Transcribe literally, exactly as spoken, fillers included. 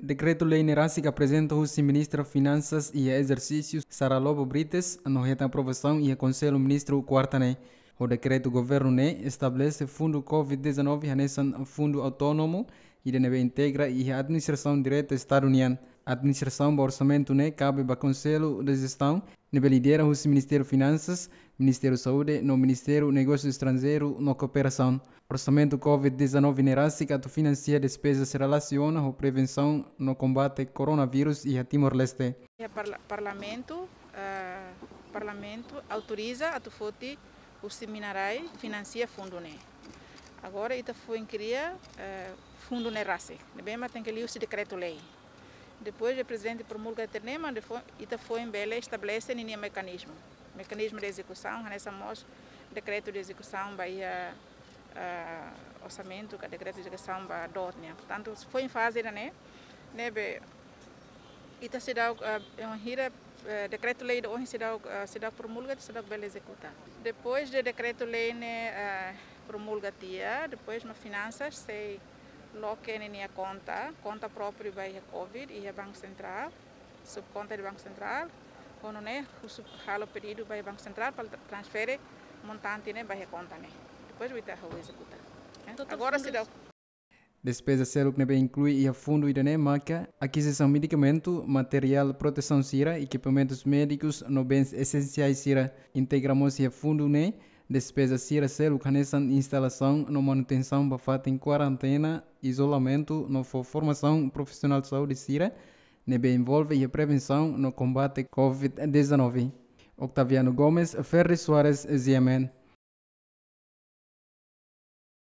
Dekretu-lei ne'e rasik aprezenta husi Ministra Finansas iha ezersísiu Sara Lobo Brites, no hetan aprovasaun iha Konsellu Ministru kuarta ne'e. Ho dekretu governu ne'e estabelese fundu covid dezanove hanesan fundu autónomu, ida ne'ebé integra iha administrasaun direta Estadu nian. Administrasaun ba orsamentu ne'e kabe ba Konsellu de Jestaun, ne'ebé lidera husi Ministériu Finansas, Ministériu Saúde, no Ministériu Negósiu Estranjeiru no Kooperasaun. Orsamentu covid dezanove ne'e rasik atu finansia despezas relasiona ho prevensaun no kombate koronavírus iha Timor-Leste. Iha parla-, parlamentu, eh, parlamentu autoriza atu foti husi mina-rai finansia fundu ne'e. Agora ita foin kria, eh, fundu ne'e rasik. Ne'ebé mak tenke liuhusi dekretu-lei. Depois de prezidente promulga de'it ne'e mak, depois ita foin bele estabelese ninia mekanizmu. Mekanizmu de ezekusaun, hanesan mós dekretu de ezekusaun ba iha, ah, orsamentu, ka dekretu de ezekusaun ba doot nian. Portantu, foin faze ida-ne'e, ne'ebé ita seidauk, ah, eh, hira, eh, dekretu-lei ida ohin seidauk, ah, seidauk promulga, seidauk bele ezekuta. Depois de dekretu-lei ne'e, ah, promulga tiha, depois mak finansas sei loke ninia konta, konta própriu ba iha covid, iha Banku Sentrál, subkonta de Banku Sentrál, ho nune'e husu halo pedidu ba iha Banku Sentrál para transfere montante ne'e ba iha konta ne'e. Depois ita halo ezekuta. Eh, Total agora fundu seidauk. Despeza seluk ne'ebé inklui iha fundu ida-ne'e maka akizisaun medikamentu, materiál protesaun sira, ekipamentus médikus no bens esensiais sira. Integra mós iha fundu ne'e despeza sira seluk hanesan instalasaun no manutensaun ba fatin kuarentena, izolamentu no fó formasaun profisionál saúde sira ne'ebé envolve iha prevensaun no kombate covid dezanove. Octaviano Gomes, Ferri Soares, G M N.